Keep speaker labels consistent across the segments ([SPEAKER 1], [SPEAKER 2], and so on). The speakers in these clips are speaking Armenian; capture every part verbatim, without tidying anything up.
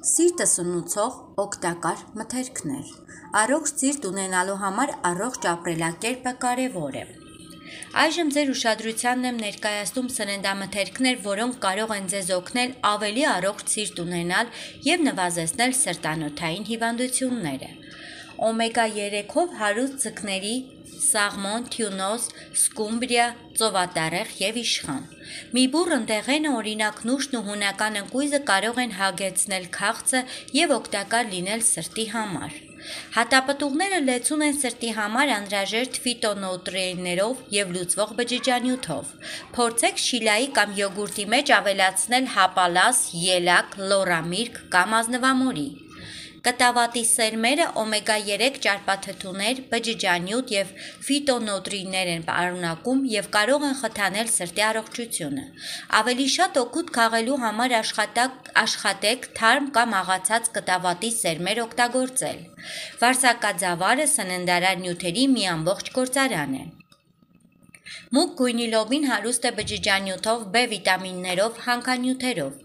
[SPEAKER 1] Սիրտը սնուցող օգտակար մթերքներ։ Առողջ սիրտ ունենալու համար առողջ ապրելակերպը կարևոր է։ Այժմ ձեր ուշադրությանն եմ ներկայացնում սննդամթերքներ, որոնք կարող են ձեզ օգնել ավելի առողջ սիրտ ունենալ և նվազեցնել սրտանոթային հիվանդությունները։ Օմեգա երեքով հարուստ ձկների սաղմոն, թյունոս, սկումբրիա, ծովատառեխ և իշխան։ Մի բուռն դեղենը, օրինակ նուշն ու հունական ընկույզը կարող են հագեցնել քաղցը և օգտակար լինել սրտի համար։ Հատապտուղները լեցուն են սրտի համար անհրաժեշտ ֆիտոնուտրիենտներով և լուծվող բջիջանյութով։ Փորձեք շիլայի կամ յոգուրտի մեջ ավելացնել հապալաս, ելակ, լոռամիրգ կամ ազնվամորի։ Կտավատի սերմերը օմեգա երեք ճարպաթթուներ, բջիջանյութ և ֆիտոնուտրիենտներ են պարունակում և կարող են խթանել սրտի առողջությունը։ Ավելի շատ օգուտ քաղելու համար աշխատեք թարմ կամ աղացած կտավատի սերմեր օգտագործել։ Վարսակաձավարը սննդարար նյութերի մի ամբողջ գործարան է։ Մուգ գույնի լոբին հարուստ է բջիջանյութով, B վիտամիններով, հանքանյութերով։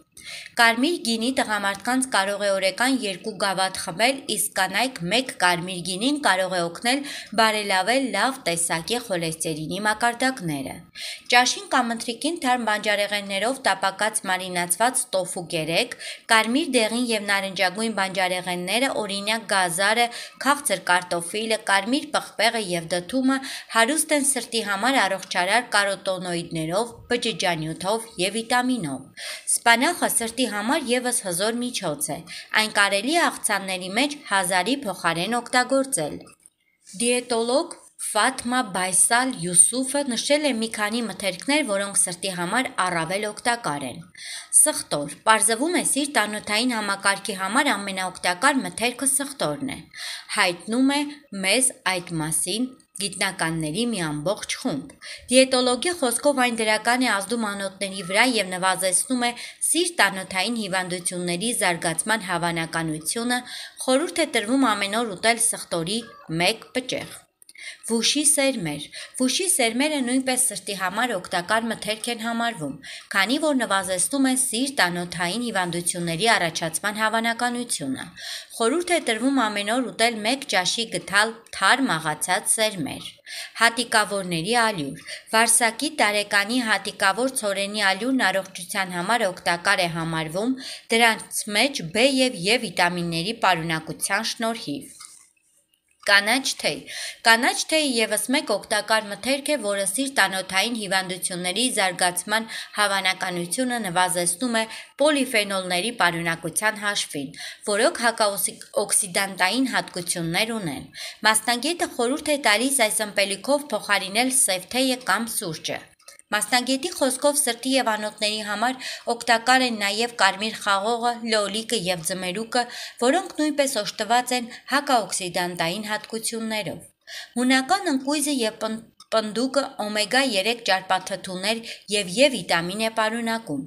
[SPEAKER 1] Կարմիր գինի տղամարդկանց կարող է օրական երկու գավաթ խմել, իսկ կանայք մեկ կարմիր գինին կարող է օգնել բարելավել լավ տեսակի խոլեստերինի մակարդակները։ Ճաշին կամ ընթրիքին թարմ բանջարեղեններով տապակած մարինացված տոֆու կերեք։ Կարմիր դեղին և նարնջագույն բանջարեղենները, օրինակ գազարը, քաղցր կարտոֆիլը, կարմիր պղպեղը և դդումը հարուստ են սրտի համար առողջարար կարոտինոիդներով, բջիջանյութով և վիտամինով։ Սպանախը սրտի համար ևս հզոր միջոց է։ Այն կարելի է աղցանների մեջ հազարի փոխարեն օգտագործել։ Դիետոլոգ Ֆաթմա Բայսալ Յուսուֆը նշել է մի քանի մթերքներ, որոնք սրտի համար առավել օգտակար են։ Սխտոր։ Պարզվում է սիրտ-անոթային համակարգի համար ամենաօգտակար մթերքը սխտորն է։ Հայտնում է մեզ այդ մասին գիտնականների մի ամբողջ խումբ։ Դիետոլոգի խոսքով այն դրական է ազդում անոթների վրա և նվազեցնում է սիրտ-անոթային հիվանդությունների զարգացման հավանականությունը, խորհուրդ է տրվում ամեն օր ուտել սխտորի մեկ պճեղ։ Վուշի սերմեր։ Վուշի սերմերը նույնպես սրտի համար օգտակար մթերք են համարվում, քանի որ նվազեցնում են սիրտ-անոթային հիվանդությունների առաջացման հավանականությունը։ Խորհուրդ է տրվում ամեն օր ուտել մեկ ճաշի գդալ թարմ աղացած սերմեր։ Հատիկավորների ալյուր։ Վարսակի տարեկանի հատիկավոր ցորենի ալյուրն առողջության համար օգտակար է համարվում դրանց մեջ B և E վիտամինների պարունակության շնորհիվ։ Կանաչ թեյ։ Կանաչ թեյը ևս մեկ օգտակար մթերք է, որը սիրտ-անոթային հիվանդությունների զարգացման հավանականությունը նվազեցնում է պոլիֆենոլների պարունակության հաշվին, որոնք հակաօքսիդանտային հատկություններ ունեն։ Մասնագետը խորհուրդ է տալիս այս ըմպելիքով փոխարինել սև թեյը կամ սուրճը։ Մասնագետի խոսքով սրտի և անոթների համար օգտակար են նաև կարմիր խաղողը, լոլիկը և ձմերուկը, որոնք նույնպես օժտված են հակաօքսիդանտային հատկություններով։ Հունական ընկույզը և պնդուկը օմեգա երեք ճարպաթթուներ և E վիտամին է պարունակում։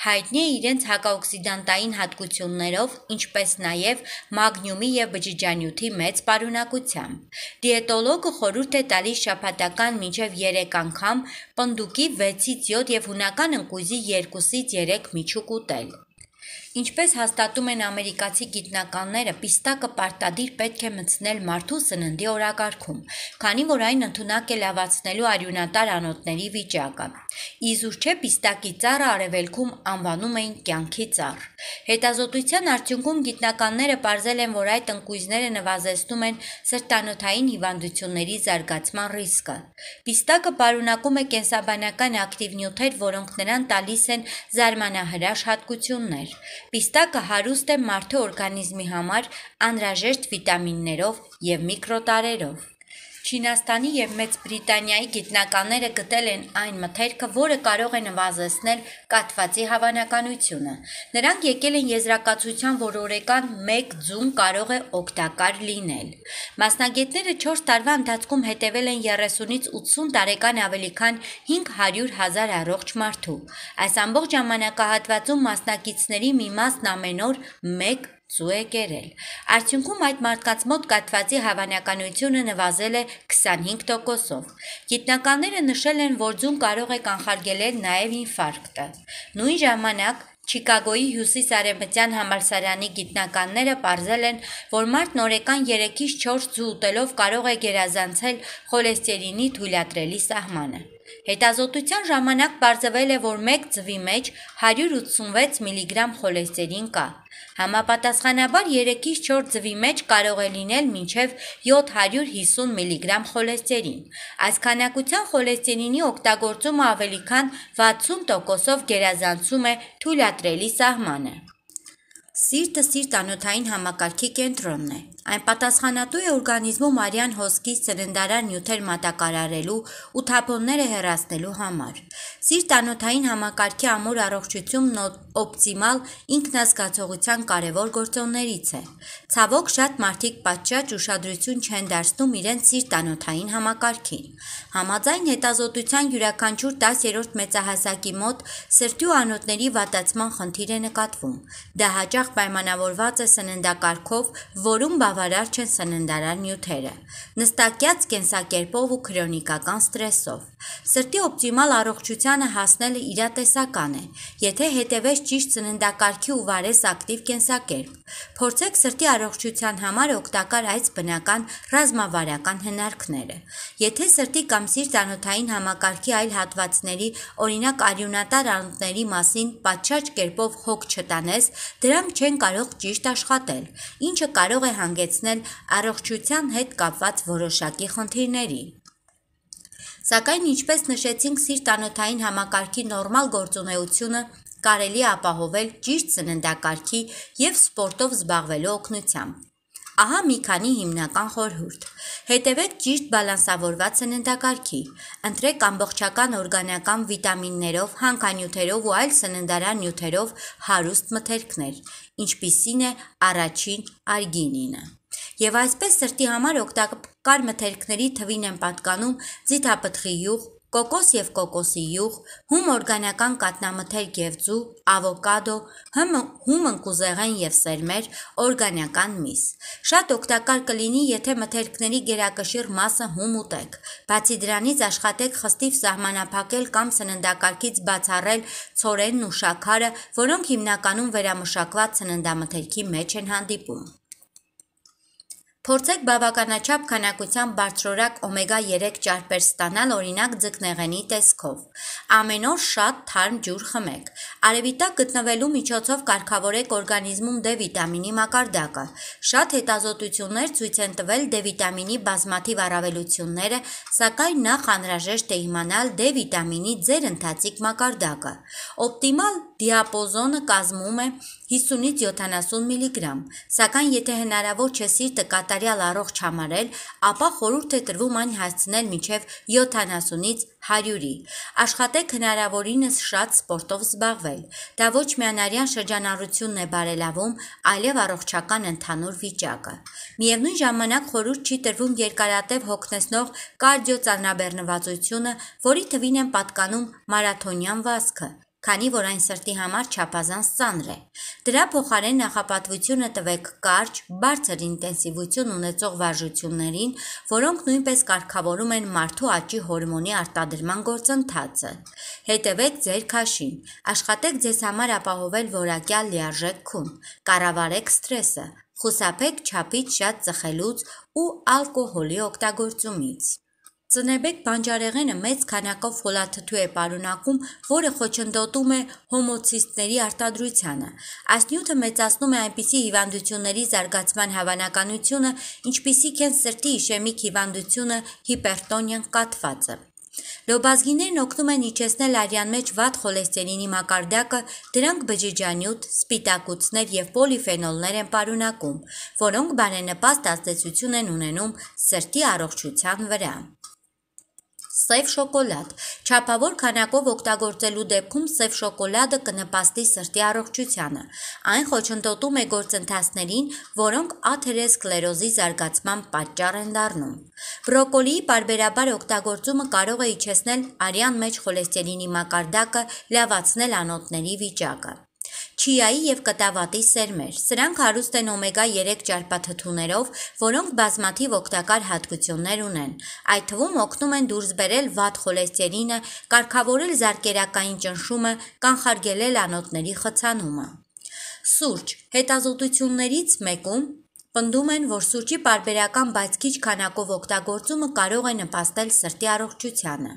[SPEAKER 1] Հայտնի է իրենց հակաօքսիդանտային հատկություններով, ինչպես նաև մագնիումի և բջիջանյութի մեծ պարունակությամբ։ Դիետոլոգը խորհուրդ է տալիս շաբաթական մինչև երեք անգամ պնդուկի վեցից յոթ և հունական ընկույզի երկուսից երեք միջուկ ուտել։ Ինչպես հաստատում են ամերիկացի գիտնականները, պիստակը պարտադիր պետք է մտցնել մարդու սննդի օրակարգում, քանի որ այն ընդունակ է լավացնելու արյունատար անոթների վիճակը։ Իզուր չէ պիստակի ծառը արևելքում անվանում էին կյանքի ծառ։ Հետազոտության արդյունքում գիտնականները պարզել են, որ այդ ընկույզները նվազեցնում են սրտանոթային հիվանդությունների զարգացման ռիսկը։ Պիստակը պարունակում է կենսաբանական ակտիվ նյութեր, որոնք նրան տալիս են զարմանահրաշ հատկություններ։ Պիստակը հարուստ է մարդու օրգանիզմի համար անհրաժեշտ վիտամիններով և միկրոտարրերով։ Չինաստանի և Մեծ Բրիտանիայի գիտնականները գտել են այն մթերքը, որը կարող է նվազեցնել կաթվածի հավանականությունը։ Նրանք եկել են եզրակացության, որ օրական մեկ ձուն կարող է օգտակար լինել։ Մասնագետները չորս տարվա ընթացքում հետևել են երեսունից ութսուն տարեկան ավելի քան հինգ հարյուր հազար առողջ մարդու։ Այս ամբողջ ժամանակահատվածում մասնակիցների մի մասն ամեն օր մեկ ձու է կերել։ Արդյունքում այդ մարդկանց մոտ կաթվածի հավանականությունը նվազել է քսանհինգ տոկոսով։ Գիտնականները նշել են, որ ձուն կարող է կանխարգելել նաև ինֆարկտը։ Նույն ժամանակ Չիկագոյի հյուսիս-արևմտյան համալսարանի գիտնականները պարզել են, որ մարդն օրական երեքից չորս ձու ուտելով կարող է գերազանցել խոլեստերինի թույլատրելի սահմանը։ Հետազոտության ժամանակ պարզվել է, որ մեկ ձվի մեջ հարյուր ութսունվեց միլիգրամ խոլեստերին կա։ Համապատասխանաբար երեքից չորս ձվի մեջ կարող է լինել մինչև յոթ հարյուր հիսուն միլիգրամ խոլեստերին։ Այս քանակության խոլեստերինի օգտագործումը ավելի քան վաթսուն տոկոսով գերազանցում է թույլատրելի սահմանը։ Սիրտը սիրտ-անոթային համակարգի կենտրոնն է։ Այն պատասխանատու է օրգանիզմում արյան հոսքի սննդարար նյութեր մատակարարելու ու թափոնները հեռացնելու համար։ Սիրտ-անոթային համակարգի ամուր առողջությունն օպտիմալ ինքնազգացողության կարևոր գործոններից է։ Ցավոք, շատ մարդիկ պատշաճ ուշադրություն չեն դարձնում իրենց սիրտ-անոթային համակարգին։ Համաձայն հետազոտության յուրաքանչյուր տասերորդ մեծահասակի մոտ սրտի ու անոթների վատացման խնդիր է նկատվում։ Դա հաճախ պայմանավորված է սննդակարգով, որում բավարար չեն սննդարար նյութերը, նստակյաց կենսակերպով ու քրոնիկական ստրեսով։ Սրտի օպտիմալ առողջությանը հասնելը իրատեսական է, եթե հետևես ճիշտ սննդակարգի ու վարես ակտիվ կենսակերպ։ Փորձեք սրտի առողջության համար օգտակար այս բնական ռազմավարական հնարքները։ Եթե սրտի կամ սիրտ-անոթային համակարգի այլ հատվածների, օրինակ արյունատար անոթների մասին պատշաճ կերպով հոգ չտանես, դրանք չեն կարող ճիշտ աշխատել, ինչը կարող է հանգեցնել առողջության հետ կապված որոշակի խնդիրների։ Սակայն, ինչպես նշեցինք, սիրտ-անոթային համակարգի նորմալ գործունեությունը կարելի է ապահովել ճիշտ սննդակարգի և սպորտով զբաղվելու օգնությամբ։ Ահա մի քանի հիմնական խորհուրդ։ Հետևեք ճիշտ բալանսավորված սննդակարգի։ Ընտրեք ամբողջական օրգանական վիտամիններով, հանքանյութերով ու այլ սննդարար նյութերով հարուստ մթերքներ, ինչպիսին է առաջին արգինինը։ Եվ այսպես սրտի համար օգտակար մթերքների թվին են պատկանում ձիթապտղի յուղ, կոկոս և կոկոսի յուղ, հում օրգանական կաթնամթերք և ձու, ավոկադո, հում ընկուզեղեն և սերմեր, օրգանական միս։ Շատ օգտակար կլինի, եթե մթերքների գերակշիռ մասը հում ուտեք։ Բացի դրանից աշխատեք խստիվ սահմանափակել կամ սննդակարգից բացառել ցորենն ու շաքարը, որոնք հիմնականում վերամշակված սննդամթերքի մեջ են հանդիպում։ Փորձեք բավականաչափ քանակությամբ բարձրորակ օմեգա երեք ճարպեր ստանալ, օրինակ ձկնեղենի տեսքով։ Ամեն օր շատ թարմ ջուր խմեք։ Արևի տակ գտնվելու միջոցով կարգավորեք օրգանիզմում D վիտամինի մակարդակը։ Շատ հետազոտություններ ցույց են տվել D վիտամինի բազմաթիվ առավելությունները, սակայն նախ անհրաժեշտ է իմանալ D վիտամինի ձեր ընթացիկ մակարդակը։ Օպտիմալ դիապոզոնը կազմում է հիսունից յոթանասուն միլիգրամ, սակայն եթե հնարավոր չէ սիրտը կատարյալ առողջ համարել, ապա խորհուրդ է տրվում այն հասցնել մինչև յոթանասունից հարյուրի։ Աշխատեք հնարավորինս շատ սպորտով զբաղվել։ Դա ոչ միայն արյան շրջանառությունն է բարելավում, այլև առողջական ընդհանուր վիճակը։ Միևնույն ժամանակ խորհուրդ չի տրվում երկարատև հոգնեցնող կարդիոծանրաբեռնվածությունը, որի թվին են պատկանում մարաթոնյան վազքը, քանի որ այն սրտի համար չափազանց ծանր է։ Դրա փոխարեն նախապատվությունը տվեք կարճ, բարձր ինտենսիվություն ունեցող վարժություններին, որոնք նույնպես կարգավորում են մարդու աճի հորմոնի արտադրման գործընթացը։ Հետևեք ձեր քաշին, աշխատեք ձեզ համար ապահովել որակյալ լիարժեք քուն, կառավարեք սթրեսը, խուսափեք չափից շատ ծխելուց ու ալկոհոլի օգտագործումից։ Ծնեբեկ բանջարեղենը մեծ քանակով ֆոլաթթու է պարունակում, որը խոչընդոտում է հոմոցիստների արտադրությանը։ Այս նյութը մեծացնում է այնպիսի հիվանդությունների զարգացման հավանականությունը, ինչպիսիք են սրտի իշեմիկ հիվանդությունը, հիպերտոնիան, կաթվածը։ Լոբազգիներն օգնում են իջեցնել արյան մեջ վատ խոլեստերինի մակարդակը, դրանք բջիջանյութ, սպիտակուցներ և պոլիֆենոլներ են պարունակում, որոնք բարենպաստ ազդեցություն են ունենում սրտի առողջության վրա։ Սև շոկոլադ։ Չափավոր քանակով օգտագործելու դեպքում սև շոկոլադը կնպաստի սրտի առողջությանը։ Այն խոչընդոտում է գործընթացներին, որոնք աթերոսկլերոզի զարգացման պատճառ են դառնում։ Բրոկոլիի պարբերաբար օգտագործումը կարող է իջեցնել արյան մեջ խոլեստերինի մակարդակը, լավացնել անոթների վիճակը։ չիայի և կտավատի սերմեր։ Սրանք հարուստ են օմեգա երեք ճարպաթթուներով, որոնք բազմաթիվ օգտակար հատկություններ ունեն։ Այդ թվում օգնում են դուրս բերել վատ խոլեստերինը, կարգավորել զարկերակային ճնշումը, կանխարգելել անոթների խցանումը։ Սուրճ։ Հետազոտություններից մեկում պնդում են, որ սուրճի պարբերական բայց քիչ քանակով օգտագործումը կարող է նպաստել սրտի առողջությանը։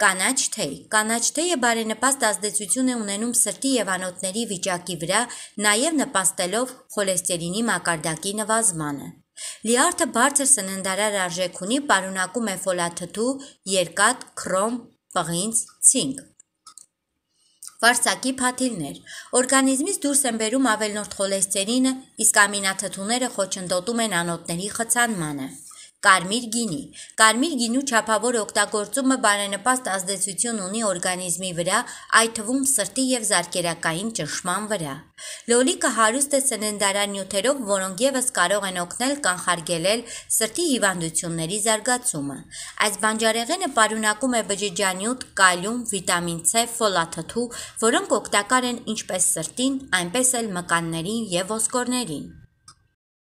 [SPEAKER 1] Կանաչ թեյ։ Կանաչ թեյը բարենպաստ ազդեցություն է ունենում սրտի և անոթների վիճակի վրա, նաև նպաստելով խոլեստերինի մակարդակի նվազմանը։ Լյարդը բարձր սննդարար արժեք ունի, պարունակում է ֆոլաթթու, երկաթ, քրոմ, պղինձ, ցինկ։ Վարսակի փաթիլներ։ Օրգանիզմից դուրս են բերում ավելորդ խոլեստերինը, իսկ ամինաթթուները խոչընդոտում են անոթների խցանմանը։ Կարմիր գինի։ Կարմիր գինու չափավոր օգտագործումը բարենպաստ ազդեցություն ունի օրգանիզմի վրա, այդ թվում սրտի և զարկերակային ճնշման վրա։ Լոլիկը հարուստ է սննդարար նյութերով, որոնք ևս կարող են օգնել կանխարգելել սրտի հիվանդությունների զարգացումը։ Այս բանջարեղենը պարունակում է բջջանյութ, կալիում, վիտամին C, ֆոլաթթու, որոնք օգտակար են ինչպես սրտին, այնպես էլ մկաններին և ոսկորներին։